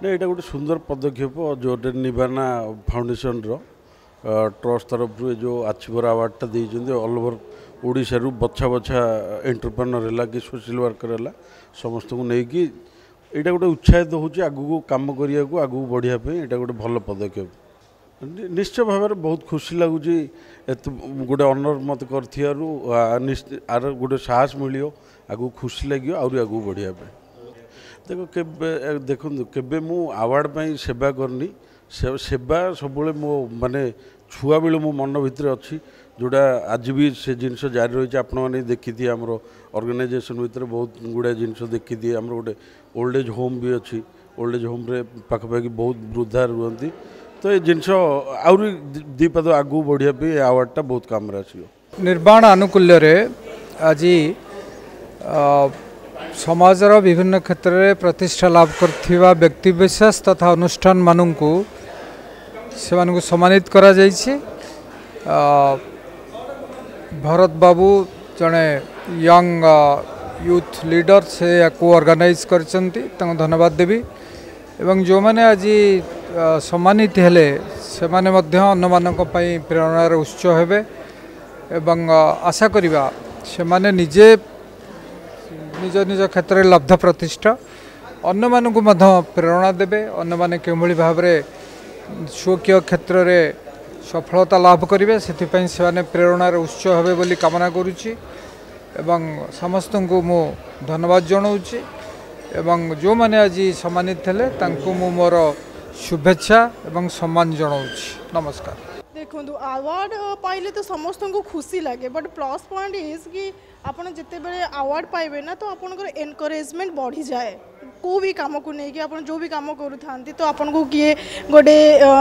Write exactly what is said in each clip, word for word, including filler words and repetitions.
ନା ଏଇଟା ଗୋଟେ ସୁନ୍ଦର ପଦକ୍ଷେପ ଜୋର୍ଡେନ୍ ନିର୍ବାଣ ଫାଉଣ୍ଡେସନର ଟ୍ରଷ୍ଟ ତରଫରୁ ଏ ଯେଉଁ ଆଚିଭର ଆୱାର୍ଡ଼ଟା ଦେଇଛନ୍ତି ଅଲ୍ ଓଭର ଓଡ଼ିଶାରୁ ବଛା ବଛା ଏଣ୍ଟରପ୍ରେନର ହେଲା କି ସୋସିଆଲ ୱାର୍କର ହେଲା ସମସ୍ତଙ୍କୁ ନେଇକି ଏଇଟା ଗୋଟେ ଉତ୍ସାହିତ ହେଉଛି ଆଗକୁ କାମ କରିବାକୁ ଆଗକୁ ବଢ଼ିବା ପାଇଁ ଏଇଟା ଗୋଟେ ଭଲ ପଦକ୍ଷେପ ନି- ନିଶ୍ଚୟ ଭାବରେ ବହୁତ ଖୁସି ଲାଗୁଛି ଏତେ ଗୋଟେ ଅନର୍ ମୋତେ କରିଥିବାରୁ ଆ, ନିଶ୍ଚ- ଆର ଗୋଟେ ସାହସ ମିଳିବ ଆଗକୁ ଖୁସି ଲାଗିବ ଆହୁରି ଆଗକୁ ବଢ଼ିବା ପାଇଁ ଦେଖ କେବେ ଦେଖନ୍ତୁ କେବେ ମୁଁ ଆୱାର୍ଡ଼ ପାଇଁ ସେବା କରିନି ସେ- ସେବା ସବୁବେଳେ ମୋ ମାନେ ଛୁଆବେଳୁ ମୋ ମନ ଭିତରେ ଅଛି ଯେଉଁଟା ଆଜି ବି ସେ ଜିନିଷ ଜାରି ରହିଛି ଆପଣମାନେ ଦେଖିଥିବେ ଆମର ଅର୍ଗାନାଇଜେସନ୍ ଭିତରେ ବହୁତ ଗୁଡ଼ାଏ ଜିନିଷ ଦେଖିଥିବେ ଆମର ଗୋଟେ ଓଲ୍ଡ ଏଜ୍ ହୋମ୍ ବି ଅଛି ଓଲ୍ଡ ଏଜ୍ ହୋମ୍ରେ ପାଖାପାଖି ବହୁତ ବୃଦ୍ଧା ରୁହନ୍ତି ତ ଏ ଜିନିଷ ଆହୁରି ଦି- ଦୁଇ ପାଦ ଆଗକୁ ବଢ଼ିବା ପାଇଁ ଏ ଆୱାର୍ଡ଼ଟା ବହୁତ କାମରେ ଆସିବ ନିର୍ବାଣ ଆନୁକୂଲ୍ୟରେ ଆଜି ଅ, ସମାଜର ବିଭିନ୍ନ କ୍ଷେତ୍ରରେ ପ୍ରତିଷ୍ଠା ଲାଭ କରିଥିବା ବ୍ୟକ୍ତିବିଶେଷ ତଥା ଅନୁଷ୍ଠାନମାନଙ୍କୁ ସେମାନଙ୍କୁ ସମ୍ମାନିତ କରାଯାଇଛି ଅ, ଭରତ ବାବୁ ଜଣେ ୟଙ୍ଗ ୟୁଥ୍ ଲିଡର ସେ ୟାକୁ ଅର୍ଗାନାଇଜ୍ କରିଛନ୍ତି ତାଙ୍କୁ ଧନ୍ୟବାଦ ଦେବି ଏବଂ ଯେଉଁମାନେ ଆଜି ଅ, ସମ୍ମାନିତ ହେଲେ ସେମାନେ ମଧ୍ୟ ଅନ୍ୟମାନଙ୍କ ପାଇଁ ପ୍ରେରଣାର ଉତ୍ସ ହେବେ ଏବଂ ଅ, ଆଶା କରିବା ସେମାନେ ନିଜେ ନିଜ ନିଜ କ୍ଷେତ୍ରରେ ଲବ୍ଧ ପ୍ରତିଷ୍ଠା ଅନ୍ୟମାନଙ୍କୁ ମଧ୍ୟ ପ୍ରେରଣା ଦେବେ ଅନ୍ୟମାନେ କେଉଁଭଳି ଭାବରେ ସ୍ୱକୀୟ କ୍ଷେତ୍ରରେ ସଫଳତା ଲାଭ କରିବେ ସେଥିପାଇଁ ସେମାନେ ପ୍ରେରଣାର ଉତ୍ସ ହେବେ ବୋଲି କାମନା କରୁଛି ଏବଂ ସମସ୍ତଙ୍କୁ ମୁଁ ଧନ୍ୟବାଦ ଜଣାଉଛି ଏବଂ ଯେଉଁମାନେ ଆଜି ସମ୍ମାନିତ ହେଲେ ତାଙ୍କୁ ମୁଁ ମୋର ଶୁଭେଚ୍ଛା ଏବଂ ସମ୍ମାନ ଜଣାଉଛି ନମସ୍କାର ଦେଖନ୍ତୁ ଆୱାର୍ଡ଼ ପାଇଲେ ତ ସମସ୍ତଙ୍କୁ ଖୁସି ଲାଗେ ବଟ୍ ପ୍ଲସ୍ ପଏଣ୍ଟ is କି ଆପଣ ଯେତେବେଳେ ଆୱାର୍ଡ଼ ପାଇବେ ନା ତ ଆପଣଙ୍କର ଏନକରେଜମେଣ୍ଟ ବଢ଼ିଯାଏ କେଉଁ ବି କାମକୁ ନେଇକି ଆପଣ ଯେଉଁ ବି କାମ କରୁଥାନ୍ତି ତ ଆପଣଙ୍କୁ କିଏ ଗୋଟେ ଅ,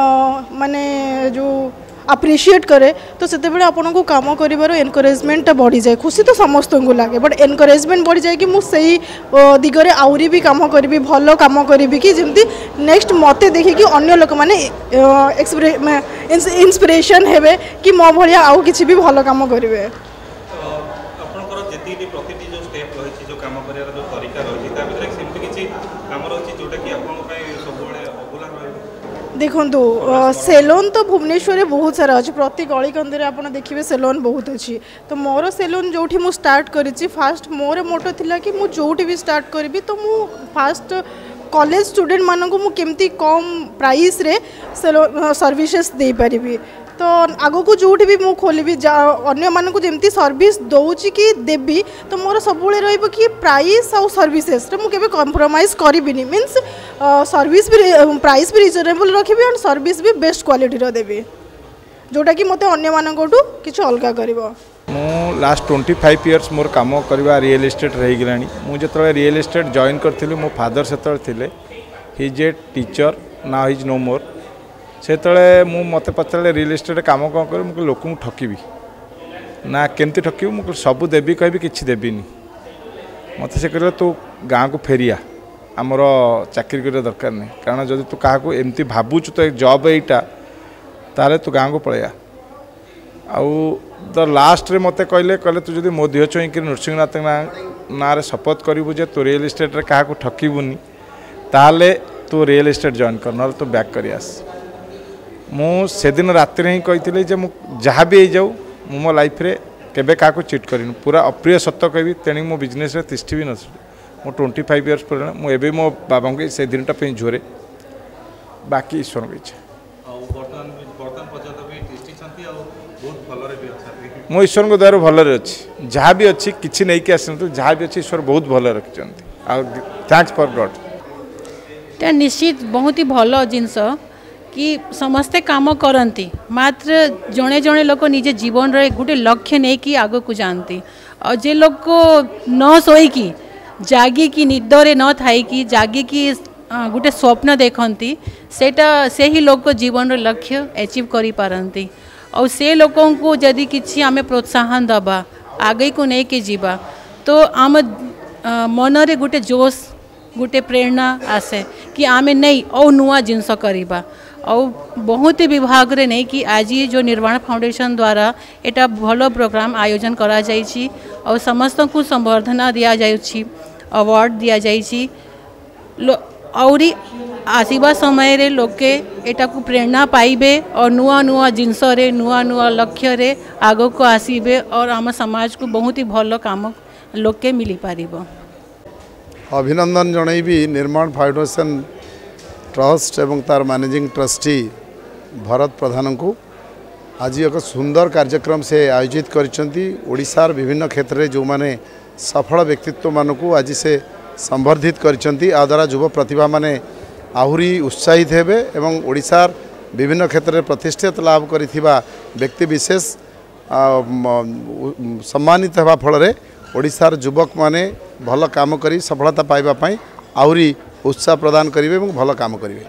ମାନେ ଯେଉଁ ଆପ୍ରିସିଏଟ୍ କରେ ତ ସେତେବେଳେ ଆପଣଙ୍କୁ କାମ କରିବାର ଏନକରେଜମେଣ୍ଟଟା ବଢ଼ିଯାଏ ଖୁସି ତ ସମସ୍ତଙ୍କୁ ଲାଗେ ବଟ୍ ଏନକରେଜମେଣ୍ଟ ବଢ଼ିଯାଏ କି ମୁଁ ସେଇ ଅ, ଦିଗରେ ଆହୁରି ବି କାମ କରିବି ଭଲ କାମ କରିବି କି ଯେମିତି ନେକ୍ସଟ ମୋତେ ଦେଖିକି ଅନ୍ୟ ଲୋକମାନେ ଇନ୍ସପିରେସନ୍ ହେବେ କି ମୋ ଭଳିଆ ଆଉ କିଛି ବି ଭଲ କାମ କରିବେ ତ ଆପଣଙ୍କର ଯେତିକି ପ୍ରତିଟି ଯେଉଁ ଷ୍ଟେପ୍ ରହିଛି ଯେଉଁ କାମ କରିବାର ଯେଉଁ ତରିକା ରହିଛି ତା ଭିତରେ ସେମିତି କିଛି କାମ ରହିଛି ଯେଉଁଟାକି ଆପଣଙ୍କ ପାଇଁ ସବୁବେଳେ ଅଭୁଲା ରହିବ ଦେଖନ୍ତୁ ସେଲୁନ୍ ତ ଭୁବନେଶ୍ୱରରେ ବହୁତ ସାରା ଅଛି ପ୍ରତି ଗଳିକନ୍ଦିରେ ଆପଣ ଦେଖିବେ ସେଲୁନ୍ ବହୁତ ଅଛି ତ ମୋର ସେଲୁନ୍ ଯେଉଁଠି ମୁଁ ଷ୍ଟାର୍ଟ କରିଛି ଫାଷ୍ଟ ମୋର ମୋଟୋ ଥିଲା କି ମୁଁ ଯେଉଁଠି ବି ଷ୍ଟାର୍ଟ କରିବି ତ ମୁଁ ଫାଷ୍ଟ କଲେଜ ଷ୍ଟୁଡେଣ୍ଟମାନଙ୍କୁ ମୁଁ କେମିତି କମ୍ ପ୍ରାଇସ୍ରେ ସର୍ଭିସେସ୍ ଦେଇପାରିବି ତ ଆଗକୁ ଯେଉଁଠି ବି ମୁଁ ଖୋଲିବି ଯା ଅନ୍ୟମାନଙ୍କୁ ଯେମିତି ସର୍ଭିସ୍ ଦେଉଛି କି ଦେବି ତ ମୋର ସବୁବେଳେ ରହିବ କି ପ୍ରାଇସ୍ ଆଉ ସର୍ଭିସେସ୍ରେ ମୁଁ କେବେ କମ୍ପ୍ରମାଇଜ୍ କରିବିନି ମିନ୍ସ ସର୍ଭିସ୍ ବି ପ୍ରାଇସ୍ ବି ରିଜନେବଲ୍ ରଖିବି ଆଣ୍ଡ ସର୍ଭିସ୍ ବି ବେଷ୍ଟ କ୍ୱାଲିଟିର ଦେବି ଯେଉଁଟାକି ମୋତେ ଅନ୍ୟମାନଙ୍କଠୁ କିଛି ଅଲଗା କରିବ ମୁଁ ଲାଷ୍ଟ ଟ୍ୱେଣ୍ଟି ଫାଇଭ୍ ଇୟର୍ସ ମୋର କାମ କରିବା ରିଏଲ୍ ଇଷ୍ଟେଟ୍ ହେଇଗଲାଣି ମୁଁ ଯେତେବେଳେ ରିଏଲ୍ ଇଷ୍ଟେଟ୍ ଜଏନ୍ କରିଥିଲି ମୋ ଫାଦର ସେତେବେଳେ ଥିଲେ he is a teacher now he's no more ସେତେବେଳେ ମୁଁ ମୋତେ ପଚାରିଲେ ରିଏଲ୍ ଇଷ୍ଟେଟ୍ କାମ କ'ଣ କରିବି ମୁଁ କହିଲି ଲୋକଙ୍କୁ ଠକିବି ନା କେମିତି ଠକିବି ମୁଁ କହିଲି ସବୁ ଦେବି କହିବି କିଛି ଦେବିନି ମୋତେ ସେ କହିଲେ ତୁ ଗାଁକୁ ଫେରିଆ ଆମର ଚାକିରି କରିବା ଦରକାର ନାହିଁ କାରଣ ଯଦି ତୁ କାହାକୁ ଏମିତି ଭାବୁଛୁ ତ ଜବ୍ ଏଇଟା ତାହେଲେ ତୁ ଗାଁକୁ ପଳେଇଆ ଆଉ ଦ ଲାଷ୍ଟରେ ମୋତେ କହିଲେ କହିଲେ ତୁ ଯଦି ମୋ ଦେହ ଛୁଇଁକିରି ନୃସିଂହନାଥ ନାଁ ନାଁରେ ଶପଥ କରିବୁ ଯେ ତୁ ରିଏଲ୍ ଇଷ୍ଟେଟ୍ରେ କାହାକୁ ଠକିବୁନି ତାହେଲେ ତୁ ରିଏଲ୍ ଇଷ୍ଟେଟ୍ ଜଏନ୍ କର ନହେଲେ ତୁ ବ୍ୟାକ୍ କରି ଆସ ମୁଁ ସେଦିନ ରାତିରେ ହିଁ କହିଥିଲି ଯେ ମୁଁ ଯାହା ବି ହେଇଯାଉ ମୁଁ ମୋ ଲାଇଫ୍ରେ କେବେ କାହାକୁ ଚିଟ୍ କରିନି ପୁରା ଅପ୍ରିୟ ସତ କହିବି ତେଣିକି ମୋ ବିଜନେସ୍ରେ ତିଷ୍ଠି ବି ନଥିଲି ମୁଁ ଟ୍ୱେଣ୍ଟି ଫାଇଭ୍ ଇୟର୍ସ ପରେ ମୁଁ ଏବେ ମୋ ବାବାଙ୍କୁ ସେ ଦିନଟା ପାଇଁ ଝୁରେ ବାକି ଈଶ୍ୱରଙ୍କ ଇଚ୍ଛା ଆଉ ବର୍ତ୍ତମାନ ବର୍ତ୍ତମାନ ପର୍ଯ୍ୟନ୍ତ ବି ତିଷ୍ଠିଛନ୍ତି ଆଉ ବହୁତ ଭଲରେ ବି ଅଛନ୍ତି ମୁଁ ଈଶ୍ୱରଙ୍କ ଦୟାରୁ ଭଲରେ ଅଛି ଯାହା ବି ଅଛି କିଛି ନେଇକି ଆସିନଥିଲି ଯାହା ବି ଅଛି ଈଶ୍ୱର ବହୁତ ଭଲରେ ରଖିଛନ୍ତି ଆଉ thanks for God ଏଇଟା ନିଶ୍ଚିତ ବହୁତ ହି ଭଲ ଜିନିଷ କି ସମସ୍ତେ କାମ କରନ୍ତି ମାତ୍ର ଜଣେ ଜଣେ ଲୋକ ନିଜ ଜୀବନରେ ଗୋଟେ ଲକ୍ଷ୍ୟ ନେଇକି ଆଗକୁ ଯାଆନ୍ତି ଆଉ ଯେ ଲୋକ ନ ଶୋଇକି ଜାଗିକି ନିଦରେ ନ ଥାଇକି ଜାଗିକି ଅ, ଗୋଟେ ସ୍ୱପ୍ନ ଦେଖନ୍ତି ସେଇଟା ସେହି ଲୋକ ଜୀବନର ଲକ୍ଷ୍ୟ ଆଚିଭ୍ କରିପାରନ୍ତି ଆଉ ସେ ଲୋକଙ୍କୁ ଯଦି କିଛି ଆମେ ପ୍ରୋତ୍ସାହନ ଦେବା ଆଗକୁ ନେଇକି ଯିବା ତ ଆମ ଅ, ମନରେ ଗୋଟେ ଜୋଶ ଗୋଟେ ପ୍ରେରଣା ଆସେ କି ଆମେ ନେଇ ଆଉ ନୂଆ ଜିନିଷ କରିବା ଆଉ ବହୁତ ବିଭାଗରେ ନେଇକି ଆଜି ଯେଉଁ ନିର୍ବାଣ ଫାଉଣ୍ଡେସନ୍ ଦ୍ୱାରା ଏଇଟା ଭଲ ପ୍ରୋଗ୍ରାମ ଆୟୋଜନ କରାଯାଇଛି ଆଉ ସମସ୍ତଙ୍କୁ ସମ୍ବର୍ଦ୍ଧନା ଦିଆଯାଉଛି ଆୱାର୍ଡ଼ ଦିଆଯାଇଛି ଲୋ- ଆହୁରି ଆସିବା ସମୟରେ ଲୋକେ ଏଟାକୁ ପ୍ରେରଣା ପାଇବେ और ନୂଆ ନୂଆ ଜିନିଷରେ, ନୂଆ ନୂଆ ଲକ୍ଷ୍ୟରେ ଆଗକୁ ଆସିବେ और ଆମ ସମାଜକୁ ବହୁତ ହି ଭଲ କାମ ଲୋକେ ମିଳିପାରିବ। ଅଭିନନ୍ଦନ ଜଣାଇବି ନିର୍ମାଣ ଫାଉଣ୍ଡେସନ୍ ଟ୍ରଷ୍ଟ ଏବଂ ତାର ମ୍ୟାନେଜିଂ ଟ୍ରଷ୍ଟି ଭରତ ପ୍ରଧାନଙ୍କୁ। ଆଜି ଏକ ସୁନ୍ଦର କାର୍ଯ୍ୟକ୍ରମ ସେ ଆୟୋଜିତ କରିଛନ୍ତି। ଓଡ଼ିଶାର ବିଭିନ୍ନ କ୍ଷେତ୍ରରେ ଯେଉଁମାନେ ସଫଳ ବ୍ୟକ୍ତିତ୍ୱମାନଙ୍କୁ ଆଜି ସେ ସମ୍ବର୍ଦ୍ଧିତ କରିଛନ୍ତି, ଏହାଦ୍ୱାରା ଯୁବ ପ୍ରତିଭାମାନେ ଆହୁରି ଉତ୍ସାହିତ ହେବେ ଏବଂ ଓଡ଼ିଶାର ବିଭିନ୍ନ କ୍ଷେତ୍ରରେ ପ୍ରତିଷ୍ଠିତ ଲାଭ କରିଥିବା ବ୍ୟକ୍ତିବିଶେଷ ସମ୍ମାନିତ ହେବା ଫଳରେ ଓଡ଼ିଶାର ଯୁବକମାନେ ଭଲ କାମ କରି ସଫଳତା ପାଇବା ପାଇଁ ଆହୁରି ଉତ୍ସାହ ପ୍ରଦାନ କରିବେ ଏବଂ ଭଲ କାମ କରିବେ।